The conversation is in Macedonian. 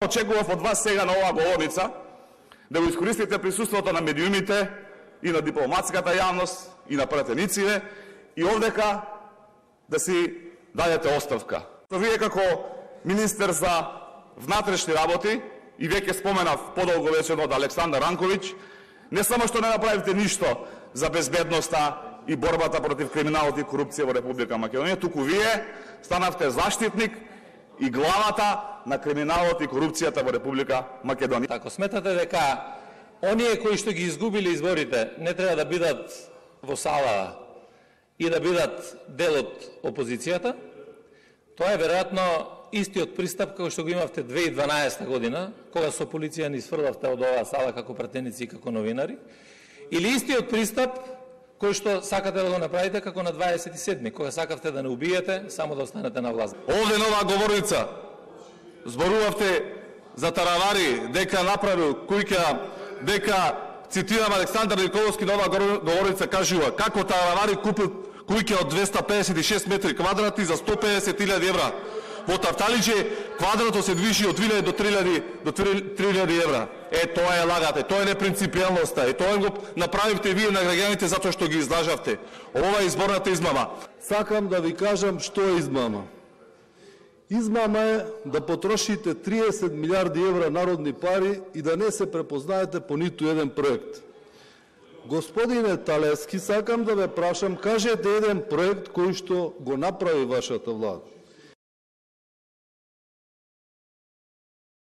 очекував од вас сега на оваа говорница да го искористите присуството на медиумите и на дипломатската јавност и на пратениците и овдека да си дадете оставка. Вие како министер за внатрешни работи и веќе споменав подолго вечерно од Александар Ранковиќ, не само што не направите ништо за безбедноста и борбата против криминалот и корупција во Република Македонија, туку вие станавте заштитник и главата на криминалот и корупцијата во Република Македонија. Ако сметате дека оние кои што ги изгубиле изборите не треба да бидат во сала и да бидат дел од опозицијата, тоа е веројатно истиот пристап како што го имавте 2012 година, кога со полиција ни сфрлавте од оваа сала како пратеници и како новинари, или истиот пристап кој што сакате да го направите како на 27-ми, кога сакавте да не убиете, само да останете на власт. Овде на оваа говорница зборувавте за таравари, дека направил куќа, дека, цитирам Александар Николовски на оваа говорница кажува, како таравари купил куќа од 256 метри квадратни за 150.000 евра. Во Тафталиџе квадратот се движи од 2.000 до 3.000 евра. Тоа е лагате, тоа е непринципијалноста, тоа го направивте вие на граѓаните затоа што ги излажавте. Ова е изборната измама. Сакам да ви кажам што е измама. Измама е да потрошите 30 милиарди евра народни пари и да не се препознаете по ниту еден проект. Господине Талевски, сакам да ве прашам, кажете еден проект кој што го направи вашата влада.